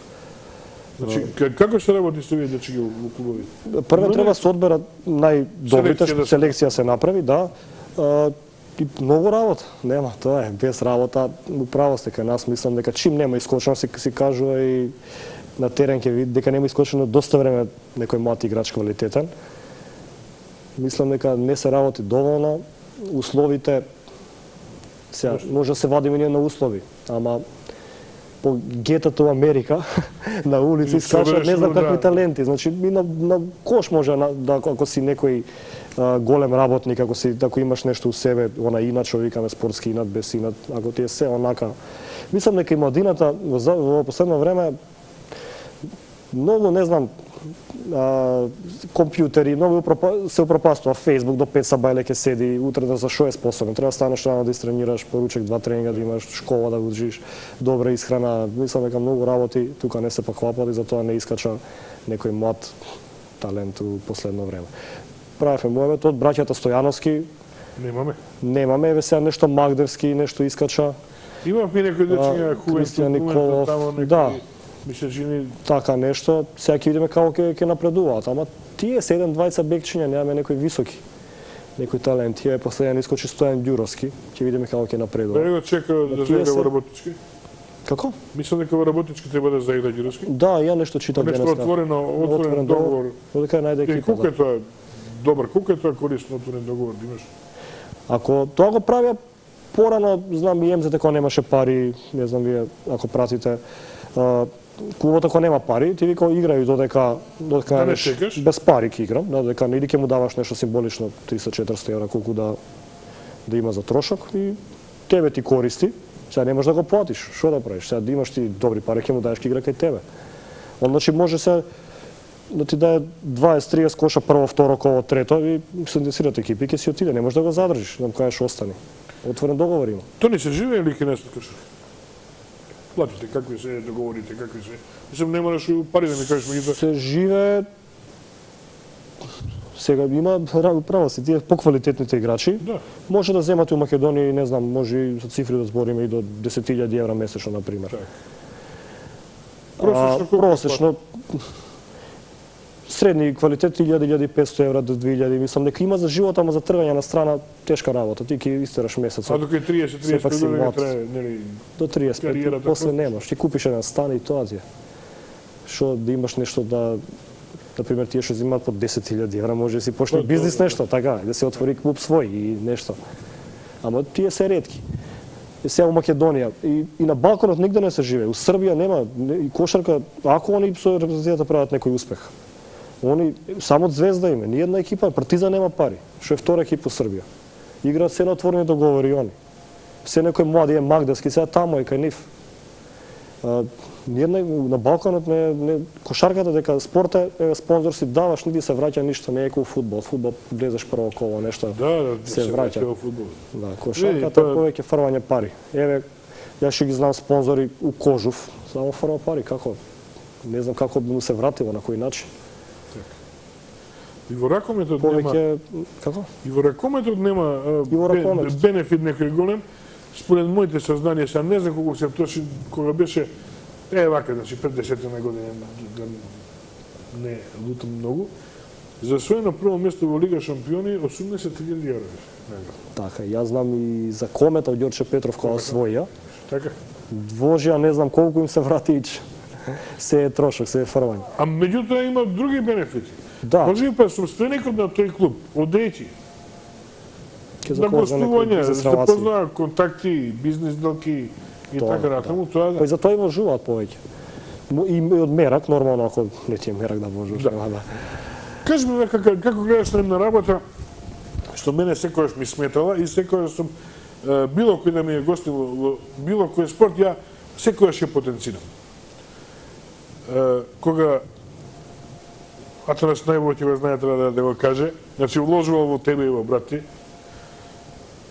Значи, к- како се работи со овие дечки во клубови? Прво треба се одберат најдобрите, Селекција да се- селекција се направи, да. А, и многу работа, нема, тоа е, без работа, управо сте кај нас, мислам дека чим нема искочено, се си кажува и на терен ќе види дека нема искочено доста време некој млад играч квалитетен. Мислам дека не се работи доволно, условите, сега, може да се вадиме ние на услови, ама по гетото во Америка, на улици И скачат не собереш, знам да. какви таленти. Значи, и на, на кош може, на, да, ако си некој а, голем работник, ако, си, ако имаш нешто у себе, она инат, што викаме спортски инат, без инат, ако ти е се онака. Мислам дека и младината во, за- во последно време многу, не знам, а, компјутери, многу упропа- се упропастува Facebook до пет сабајле ќе седи, утре да за шо е способен. Треба да станеш рано да истренираш, поручек два тренинга да имаш, школа да удржиш, добра исхрана. Мислам дека многу работи тука не се поклапат и затоа не искача некој млад талент у последно време. Правевме моевето од браќата Стојановски, Немаме. немаме, еве сега нешто Магдевски, нешто искача, Имавме некои дечиња А, хубави, Кристијан Николов, тамо некои, да. ми се чини така нешто, сега ќе видиме како ќе ќе напредуваат, ама тие се еден двајца бекчиња, немаме некои високи, некои таленти. Е последен искочи Стојан Ѓуровски, ќе видиме како ќе напредува. Бе го чека да тие заигра се- во работнички. Како? Мислам дека во работнички треба да заигра Ѓуровски. Да, ја нешто читав Нешто денеска. отворено, отворен договор. Додека е најде И екипа. колку Да. е тоа добар, колку е тоа корисно отворен договор да имаш? Ако тоа го правија порано, знам и ем зет кога немаше пари, не знам вие ако пратите, а, клубот ако нема пари, ти вика играј додека додека Да не неш- чекаш. без пари ќе играм, да, додека или ќе му даваш нешто символично триста-четириста евра колку да да има за трошок и тебе ти користи. Сега не можеш да го платиш, што да правиш? Сега да имаш ти добри пари, ќе му даеш ќе игра кај тебе. Он значи може се да ти даде дваесет триесет коша прво, второ коло, трето и се интересират екипи, ќе си отиде, не можеш да го задржиш, да му кажеш остани. Отворен договор има. Тоа не се живее или ке не се каши? Платите, какви се договорите, какви се... Мислам, не мораш пари да ми кажеш меѓутоа. Се живее сега има право си тие поквалитетните играчи. Да. Може да земат у Македонија, не знам, може и за цифри да збориме и до десет илјади евра месечно на пример. Така. А, Просечно колку просечно средни квалитет илјада до илјада и петсто евра до две илјади, мислам дека има за живот, ама за тргање на страна тешка работа. Ти ќе истераш месец. А дока е триесет Сепак си триесет години млад. трае, нели? До триесет пет, кариерата после просто. немаш. Ти купиш еден стан и тоа ти е. Што да имаш нешто да например тие што земаат по десет илјади евра, може да си почне Тоа, бизнис тоа, нешто, така, да се отвори клуб свој и нешто. Ама тие се ретки. И сега во Македонија и, и на Балканот нигде не се живее. У Србија нема не- и кошарка, ако они со репрезентацијата прават некој успех. Они само Звезда има, ни една екипа, Партизан нема пари, што е втора екипа во Србија. Играат се на отворени договори они. Се некој млади е Магдевски, сега тамо е кај нив. А, Ниедна на Балканот не, не кошарката дека спорта е спонзор си даваш, ни ти се враќа ништо, не е како фудбал. Фудбал влезеш прво коло нешто. Да, да, Се враќа. во фудбал. Да, Види, кошарката е тоа- повеќе фрвање пари. Еве, јас ќе ги знам спонзори у Кожув, само фрва пари, како? Не знам како би му се вратило, на кој начин. И во ракометот нема, Повеќе, како? и во ракометот нема а, И во бе- ракометот. бенефит некој голем. Според моите сознанија, сега не знам колку се точи кога беше е вака, значи пред десетина години, да не лутам многу. За освоено прво место во Лига шампиони осумдесет илјади евра беше награда. Така, јас знам и за Комета од Ѓорче Петров кога освоја. Така. Двожија не знам колку им се врати ич. Се е трошок, се е фрвање. А меѓутоа има други бенефити. Да. Може би па собственикот на тој клуб одрети Ќе на започне некој гостување, бизнес да релации. познаа контакти, бизнес делки и Тоа, така натаму, тоа Па да. и за тоа и можуваат повеќе. Му- И од мерак, нормално, ако не ти е мерак да можеш. Да. нема да. Кажи ми како, како гледаш на една работа, што мене секојаш ми сметала и секојаш сум е, било кој да ми е гостил во, во било кој спорт, ја секојаш ја потенцирам. кога Атанас најбоље ќе го знае, треба да, да го каже, значи вложувал во тебе и во брат ти,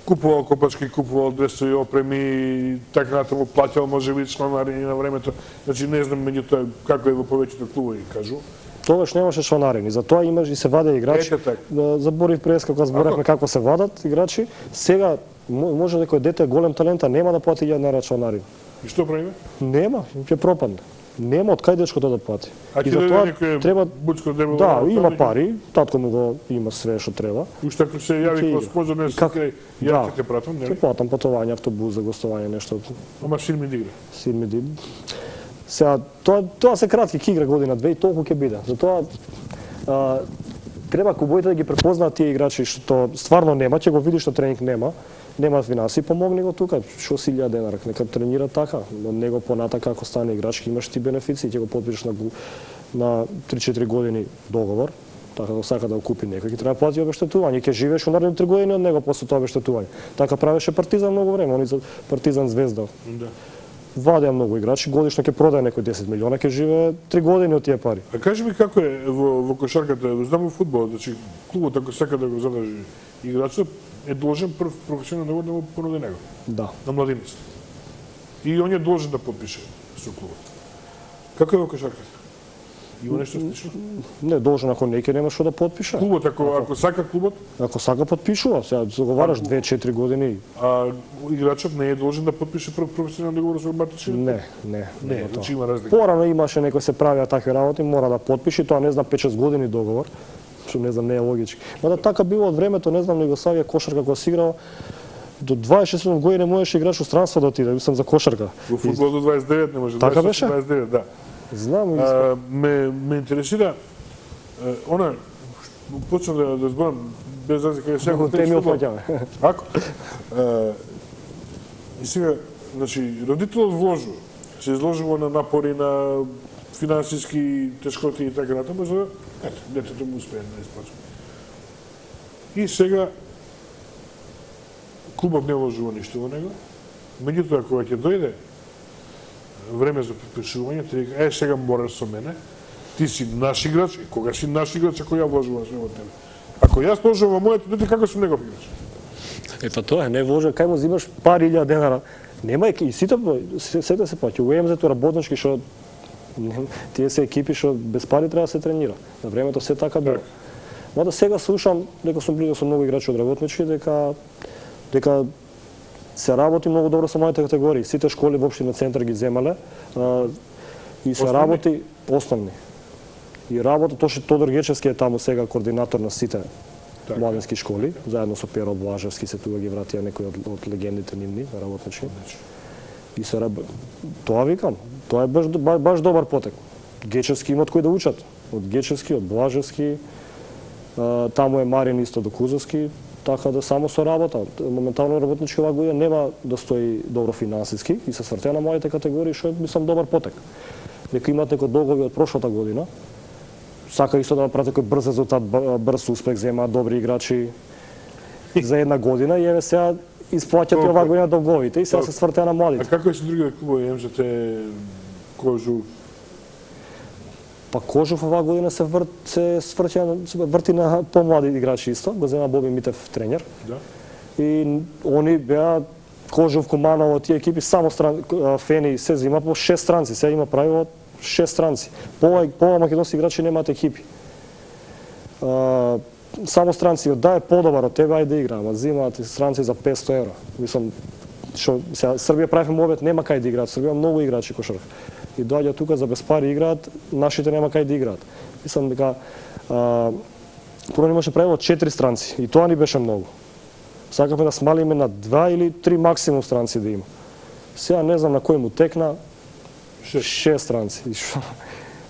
купувал копачки, купувал дресови, опреми, така натаму плаќал можеби членарини на времето. Значи не знам меѓутоа како е во повеќето клубови, кажу. Тогаш немаше членарини, затоа имаш и се ваде играчи. Ете така. За Борис Преска кога зборевме како се вадат играчи, сега може дека дете е голем талент, а нема да плати една членарина. И што правиме? Нема, ќе пропадне. Нема од кај дечкото да плати. А и ќе затоа некој треба буцко дебело. Да, има пари, татко му го има све што треба. Уште ако се јави како спонзор не как... крај, ја ќе те пратам, Ќе нели? платам патување, автобус за гостување, нешто. Ама син ми дигра. Син ми дигра. Сега тоа тоа се кратки ќе игра година две и толку ќе биде. Затоа а, треба клубовите да ги препознаат тие играчи што стварно нема, ќе го видиш на тренинг нема. Нема финанси, помогни го тука, што си илјада денара, нека тренира така, од него понатака ако стане играч, имаш ти бенефиции, ќе го подпишеш на на три-четири години договор, така да сака да го купи некој, ќе треба плати обештетување, ќе живееш во наредни три години од него после тоа обештетување. Така правеше Партизан многу време, они за Партизан Звезда. Да. Вадеа многу играчи, годишно ќе продае некој десет милиона, ќе живее три години од тие пари. А кажи ми како е во, во кошарката, знам во фудбалот, значи клубот ако сака да го задржи играчот, е должен прв професионален договор да му понуди него. Да. На младиница. И он е должен да подпише со клубот. Како е во кошарката? Има нешто слично? Не, должен ако не ќе нема што да подпише. Клубот ако ако сака клубот, Ако сака подпишува, сега заговараш две-четири години. а играчот не е должен да подпише прв професионален договор со матичниот? Не, не. Не, нема значи тоа. има разлика. Порано имаше некој се правеа такви работи, мора да подпише, тоа не знам пет-шест години договор, што не знам не е логички. Мада така било од времето, не знам, на Југославија кошарка кога се играла, до дваесет и седум години можеше играч во странство да отиде, мислам за кошарка. Во фудбал до дваесет и девет не може. Така беше? дваесет и девет, да. Знам, А, ме ме интересира е, она почна да да зборам без разлика е сега теми опаѓаме. Ако е, и сега, значи родителот вложува, се изложува на напори на финансиски тешкоти и така натаму за ето детето му успее да исплачува. И сега клубот не вложува ништо во него. Меѓутоа кога ќе дојде време за подпишување, ти река, е, сега мораш со мене, ти си наш играч, и кога си наш играч, ако ја вложувам све во тебе. Ако јас вложувам во моето дете, како сум негов играч? Е па тоа е, не вложа, кај му зимаш пари илјада денара. Нема и сите сите се плаќа. У Е Ем Зет работнички што тие се екипи што без пари треба да се тренира. На времето се така било. Мада сега слушам дека сум близо со многу играчи од работнички дека дека се работи многу добро со моите категории. Сите школи во општина Центар ги земале а, и се Основни? работи основни. И работа тоа што Тодор Гечевски е таму сега координатор на сите Така. младински школи, заедно со Перо Блажевски се тука ги вратија некои од, од легендите нивни работнички. И се раб... тоа викам, тоа е баш, баш, баш добар потек. Гечевски имат кои да учат. Од Гечевски, од Блажевски, а, таму е Марин исто до Кузовски, така да само со работа. Моментално работнички оваа година нема да стои добро финансиски и се свртеа на моите категории, што е, мислам, добар потек. Нека имат некои долгови од прошлата година, сака исто да направат некој брз резултат, брз успех, земаат добри играчи за една година и еве сега исплаќат и оваа година долговите и сега се свртеа на А младите. како е со другите клубови, Е Ем Зет, Кожу? Па Кожов оваа година се врт се сврќа се врти на помлади играчи исто, го зема Боби Митев тренер. Да. И они беа Кожов, Куманово, тие екипи само стран Фени се зема по шест странци, сега има правило шест странци. Пова пова македонски играчи немаат екипи. А, само странци од да е подобар од тебе ајде да игра, ама зимаат странци за петсто евра. Мислам што сега Србија прави мовет нема кај да играат, Србија многу играчи кошарка. И доаѓа тука за без пари играат, нашите нема кај да играат. Мислам дека а, прво имаше правило четири странци и тоа ни беше многу. Сакавме да смалиме на два или три максимум странци да има. Сега не знам на кој му текна шест странци. И што?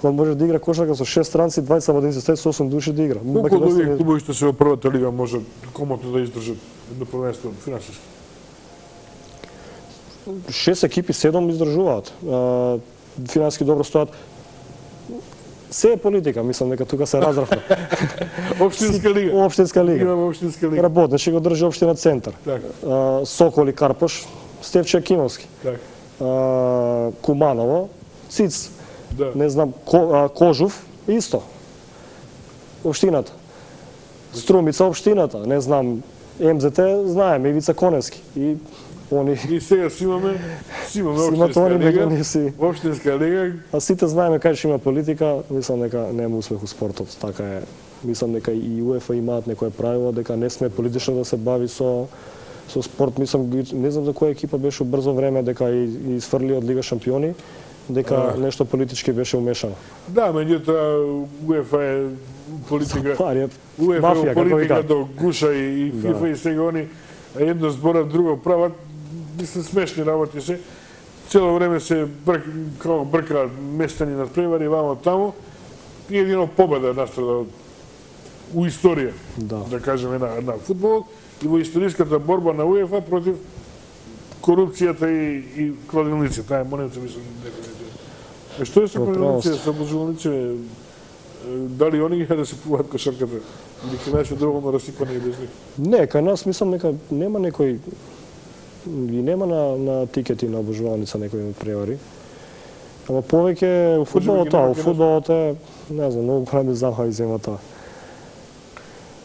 Он може да игра кошарка со шест странци, дваесет младинци, со осум души да игра. Колку од овие клубови што се во првата лига може комотно да издржат едно првенство финансиски? Шест екипи, седум издржуваат. А, финансиски добро стојат. Се е политика, мислам дека тука се разравна. Општинска лига. Општинска лига. Имаме општинска лига. Работничи го држи општина Центар. Така. А, Соколи Карпош, Стефче Акимовски. Така. А, Куманово, Циц. Да. Не знам, Ко, а, Кожув, исто. Општината. Струмица, општината. Не знам, Ем Зе Те, знаеме, Ивица Коневски. И они... И сега си имаме, си имаме Си имат општинска они лига, меѓу си. општинска лига. А сите знаеме кај што има политика, мислам дека нема успех у спортот. Така е. Мислам дека и УЕФА имаат некое правило дека не сме политично да се бави со со спорт. Мислам, не знам за која екипа беше брзо време дека и, и сфрли од Лига шампиони, дека а... нешто политички беше умешано. Да, меѓутоа УЕФА е политика. Пари, УЕФА мафија, е како политика вика. до гуша и, и ФИФА да. И сега они едно зборат, друго прават. Мислам, смешни работи се. Цело време се брк, како бркаат местани над превари, вамо таму. И едино победа настрадал у историја, да, да кажеме, на, на фудбол и во историската борба на УЕФА против корупцијата и, и кладилници. Таа е монета, мислам, некој. Е, што е со кладилници, со обложувалници? Дали они ги да се пуваат кошарката? Или ке најше доволно расипани и без них? Не, кај нас мислам нека нема некој и нема на, на тикети на обожувалница некој превари. Ама повеќе у фудбалот тоа, у фудбалот е, не знам, многу големи замави зема тоа.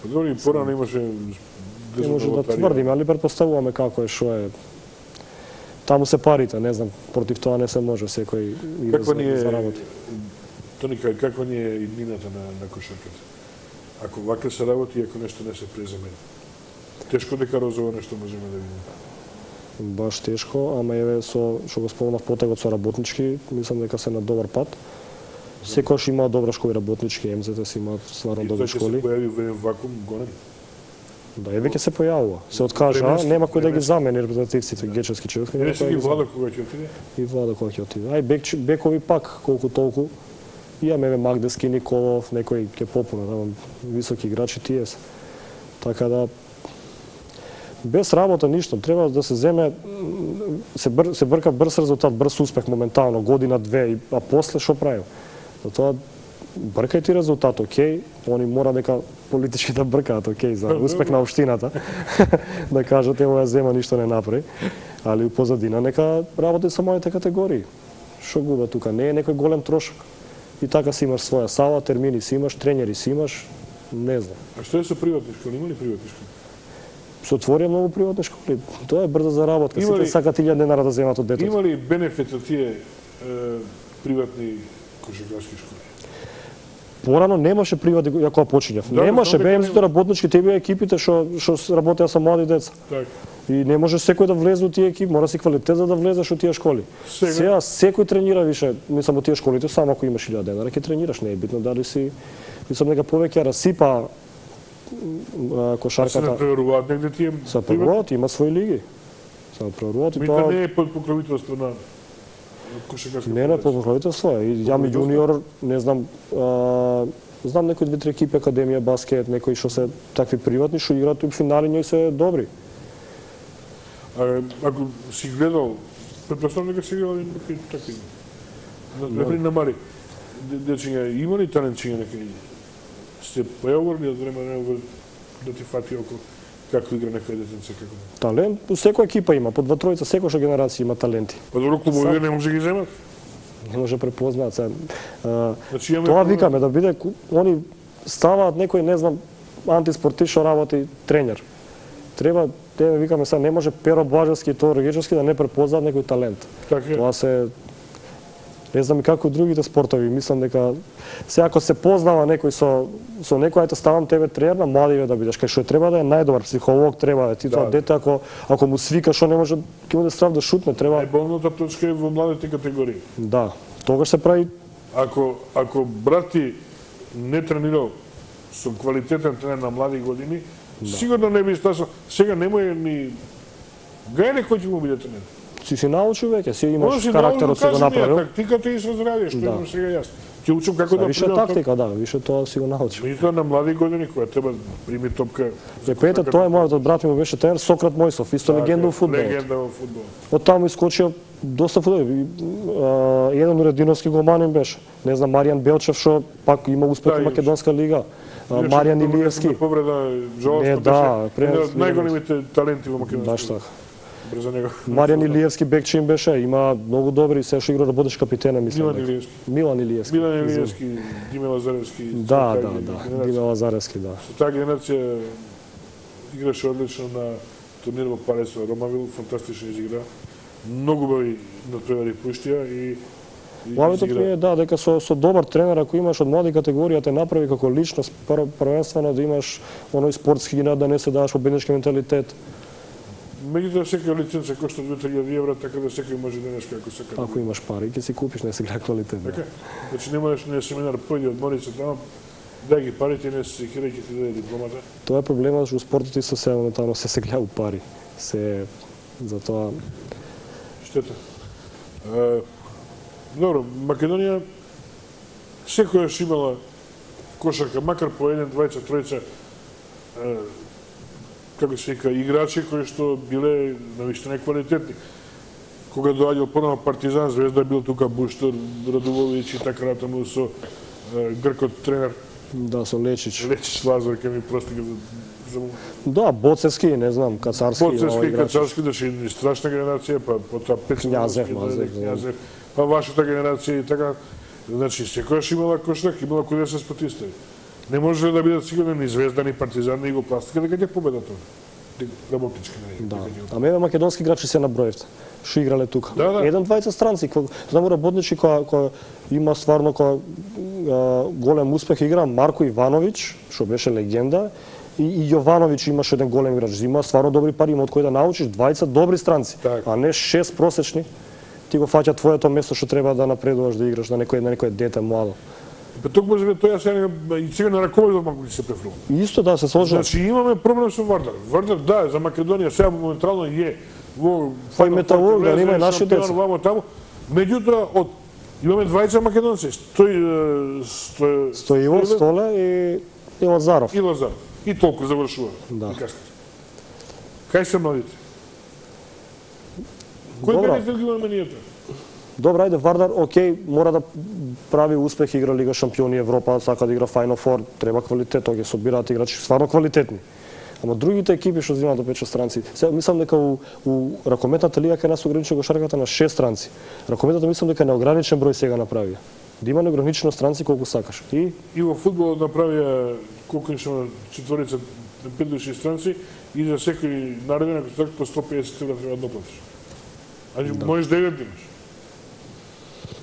Па добро, и порано имаше не може да тврдиме, али претпоставуваме како е, што е. Таму се парите, не знам, против тоа не се може, секој иде за, е, за работа. Тони, каква ни е иднината на, на кошарката? Ако вака се работи, ако нешто не се преземени. Тешко дека розово нешто можеме да видиме. Баш тешко, ама еве со што го спомнав потегот со работнички, мислам дека се на добар пат. Секојаш има добра школи работнички, Ем Зе Те си имаат стварно добри школи. И тоа ќе се појави во еден вакуум гонен. Да, и веќе се појавува. Се откажа, нема кој да ги замени репрезентативците, гечевски човек. Не се ги Влада кога ќе отиде? И Влада кога ќе отиде. Ај бек, бекови пак колку толку. Имаме еве Магдески, Николов, некои ќе попуна, таму високи играчи тие се. Така да без работа ништо, треба да се земе се, бър, се брка брз резултат, брз успех моментално, година две, а после што правим? Затоа бркај ти резултат, окей, они мора дека политички да бркаат, окей, за успех на општината, да кажат ево ја зема ништо не направи, али у позадина нека работи со моите категории. Што губа тука? Не е некој голем трошок. И така си имаш своја сала, термини си имаш, тренери си имаш, не знам. А што е со приватни школи? Има ли приватни школи? Се отворија многу приватни школи. Тоа е брза заработка. Сите сакат илјада денара да земат од детето. Има ли бенефит од тие е, приватни кошаркарски школи? Порано немаше приватни, ја кога почињав. Да, немаше, да, бе Ем Зе Те нема. работнички, те беа екипите што што работеа со млади деца. Так. И не може секој да влезе во тие екипи, мора си квалитет за да влезеш во тие школи. Сега, Сега секој тренира више, мислам во тие школите, само ако имаш илјада денара ќе тренираш, не е битно дали си, мислам дека повеќе расипа а, кошарката. се надпреваруваат негде тие Се надпреваруваат, има своји лиги. Се надпреваруваат и Митла тоа не е под покровителство на кошаркарска не на покровителство е. И јами јуниор, не знам, а, знам некои две-три екипи, Академија баскет, некои што се такви приватни, што играат и финали њој се добри. А, ако си гледал, претпоставам дека си гледал и некои такви. Например, на Мари, дечиња, има ли талентчиња некои? Се појавували од време на време да ти фати око како игра некој детенце, како? Талент, у секоја екипа има, по два-тројца, секоја генерација има таленти. Па добро, клубови не може да ги земат? Не може да препознаат се. А, Значи, имаме тоа проблем. викаме да биде, они ставаат некој, не знам, антиспортист што работи тренер. Треба, те викаме сега, не може Перо Блажевски и Тодор Гечевски да не препознаат некој талент. Така е. Тоа се не знам и како и другите спортови, мислам дека сега ако се познава некој со со некој, ајде ставам тебе тренер на младиве да бидеш, кај што треба да е најдобар психолог, треба да е. Ти тоа Да. дете ако ако му свика што не може ќе му да страв да шутне, треба Најболната точка е во младите категории. да. Тогаш се прави Ако, ако брат ти не тренирал со квалитетен тренер на млади години, сигурно не би стасо. Сега немој ни гајле кој ќе му биде тренер. си си научил веќе, си Може имаш си карактерот си го направил. Тактиката и со здравје, што Да. имам сега јас. Ќе учам како да Више примам тактика, да, више тоа си го научил. Меѓутоа на млади години кога треба прими топка. Е, пете, тоа е мојот брат ми беше тренер Сократ Мојсов, исто легенда во фудбалот. Легенда во фудбалот. Од таму искочија доста фудбал. Еден урединовски голманин беше. Не знам, Маријан Белчев што пак има успех Да, во имаше. Македонска лига. А, Маријан Илиевски. Повреда, Не, жалостно да, беше пред- еден од најголемите таленти во Баш Македонија. така. брзо него. Маријан Илиевски бекче им беше, има многу добри, се што игра да будеш капитена, мислам. Милан Илиевски. Милан Илиевски. Милан Илиевски, Диме Лазаревски. Да, да, да, Диме Лазаревски, да. Со таа генерација играше одлично на турнир во Париз во Ромавил, фантастично изигра. Многу убави надпревари пуштија и Главното ми е да, дека со, со добар тренер, ако имаш од млади категорија, те направи како личност, првенствено да имаш оној спортски генат, да не се даваш победнички менталитет. Меѓутоа секоја лиценца кошта две-три илјади евра, така да секој може денеска ако сака. Ако имаш пари, ќе си купиш, не се гледа квалитет. Така? Значи не можеш на семинар појди одмори се таму, дај ги парите, не се секира ќе ти даде дипломата. Тоа е проблемот што спортот и со се моментално се се гледа пари. Се затоа штета. Добро, Македонија секојаш имала кошарка, макар по еден, двајца, тројца, како се вика, играчи кои што биле навистина квалитетни. Кога доаѓал понова Партизан, Звезда бил тука Буштор, Радуловиќ и така натаму со гркот тренер. Да, со Лечич. Лечич Лазар, ке ми прости за Да, Боцевски, не знам, Кацарски. Боцевски, Кацарски, да ши страшна генерација, па потоа Књазев, Књазев. Па вашата генерација и така. Значи, секојаш имала кошарка, имала куде се спотистави. Не може да бидат сигурно ни Звезда, ни Партизан, ни Югопластика, дека ќе победа тоа. Работнички, не. Да. А мене македонски играчи се наброевте. Што играле тука. Да, да. Еден двајца странци, знам работничи која која има стварно која голем успех игра, Марко Ивановиќ, што беше легенда, и, и Јовановиќ имаше еден голем играч. Има стварно добри пари, има од кои да научиш, двајца добри странци, так. А не шест просечни. Ти го фаќа твоето место што треба да напредуваш да играш на некој на некој дете младо. Па токму за тоа сега и сега на раководот малку ќе се префрлува. Исто да се сложи. Значи имаме проблем со Вардар. Вардар да, за Македонија сега моментално е во Фај металург, да има и наши деца. Вамо таму. Меѓутоа од имаме двајца македонци, стои стои Стоилов, Столе и и Лазаров. И Лазаров. И толку завршува. Да. Кај се младите? Кој менеджер ги имаме ние тоа? Добро, ајде, Вардар, окей, мора да прави успех, игра Лига шампиони Европа, сака да игра Final Four, треба квалитет, тоа ќе собираат играчи стварно квалитетни. Ама другите екипи што земаат до пет шест странци, сега мислам дека у, у ракометната лига кај нас ограничи кошарката на шест странци. Ракометата мислам дека неограничен број сега направија. Да има неограничено странци колку сакаш. И и во фудбалот направија колку нешто четворица пет до шест странци и за секој нареден ако така по сто песет евра треба да доплатиш. Ани да. Можеш девет имаш.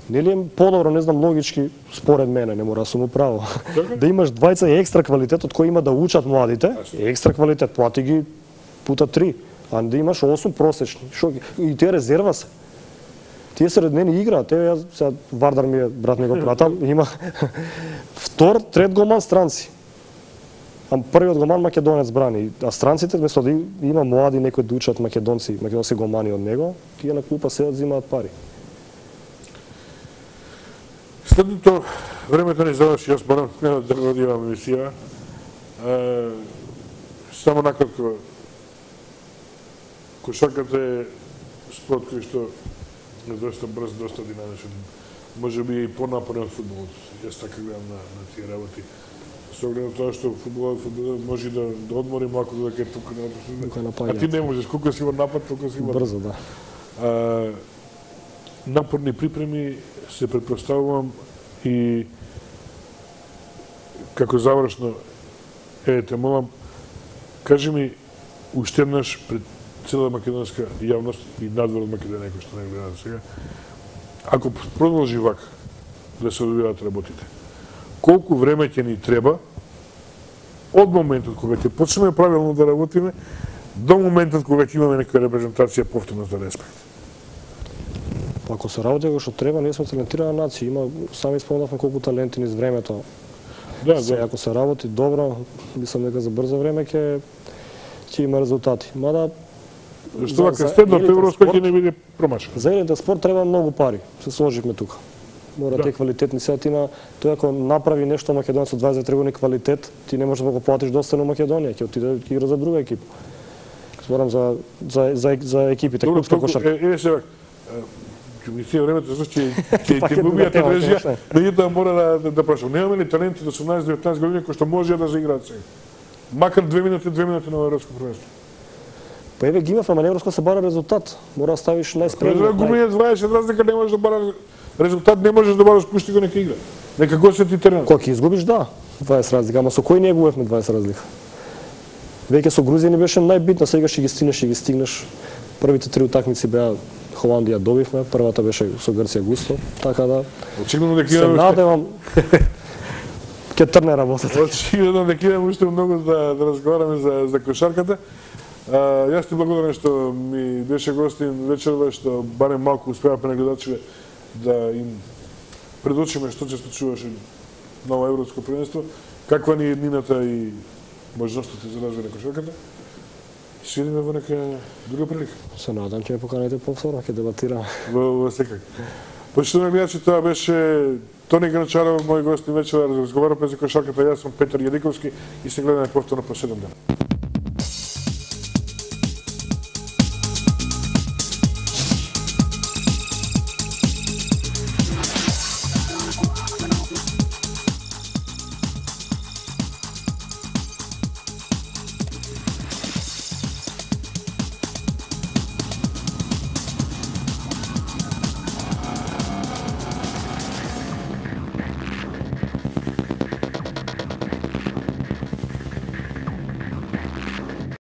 Нели е подобро, не знам, логички, според мене, не мора да сум управо, да имаш двајца екстра квалитет од кои има да учат младите, екстра квалитет, плати ги пута три, а да имаш осум просечни. Шо, и тие резерва се. Тие сред мене играат, еве јас сега Вардар ми е, брат ми го пратам, има втор, трет голман странци. А првиот голман македонец брани, а странците место да има млади некои да учат македонци, македонски голмани од него, тие на клупа седат земаат пари. Следното времето не заврши, јас морам да одивам емисија. Само накратко, кошарката е спорт кој што е доста брз, доста динамичен. Може би и понапорен од фудбалот. Јас така гледам на, на тие работи. Со оглед на тоа што фудбалот, фудбалот може да, да одмори малку додека е тука на а ти не можеш, колку си во напад, толку си во брзо, да. А, напорни припреми се претпоставувам и како завршно, е, те молам, кажи ми уште еднаш пред цела македонска јавност и надвор од Македонија, кој што не гледаат сега, ако продолжи вака да се одвиваат работите, колку време ќе ни треба од моментот кога ќе почнеме правилно да работиме до моментот кога ќе имаме некоја репрезентација повторно за респект? Ако се работи како што треба, ние сме талентирана нација, има сами спомнавме колку таленти низ времето. Да, се, да. Ако се работи добро, мислам дека за брзо време ќе ќе има резултати. Мада Зашто вака следното европско ќе не биде промашено. За елитен спорт треба многу пари. Се сложивме тука. Мора да. Те квалитетни сега ти на тој ако направи нешто македонец од дваесет години квалитет, ти не можеш да го платиш достойно Македонија, ќе отиде ќе игра за друга екипа. Зборам за за за, за екипите клубска кошарка. Е, се ќе ми се времето зашто ќе ќе ќе губиат енергија, меѓутоа мора да да, да прашам. Немаме ли таленти до осумнаесет деветнаесет години кои што може да заиграат сега? Макар две минути, две минути на европско првенство. Па еве ги имавме, ама Европско се бара резултат. Мора да ставиш најспремни. За гумење дваесет разлика не можеш да бара резултат, не можеш да бараш, пушти го нека игра. Нека го сети терен. Кога ќе изгубиш, да, дваесет разлика, ама со кој не губевме дваесет разлика? Веќе со Грузија ни беше најбитно, сега ќе ги стигнеш, ќе ги стигнеш. Првите три утакмици беа Холандија добивме, првата беше со Грција густо, така да. Очигледно дека се надевам ќе трне работата. Очигледно дека имаме уште многу да, да разговараме за, за кошарката. А, јас ти благодарам што ми беше гостин вечерва, што барем малку успеавме на гледачите да им предочиме што се случуваше на ова европско првенство, каква ни е еднината и можностите за развој на кошарката. Се видиме во нека друга прилика. Се надам ќе ме поканите повторно, ќе дебатираме. Во, во секако. Почитувани гледачи, тоа беше Тони Гранчаров, мој гостин вечера, разговараме за кошарката, јас сум Петар Јадиковски и се гледаме повторно по седум дена.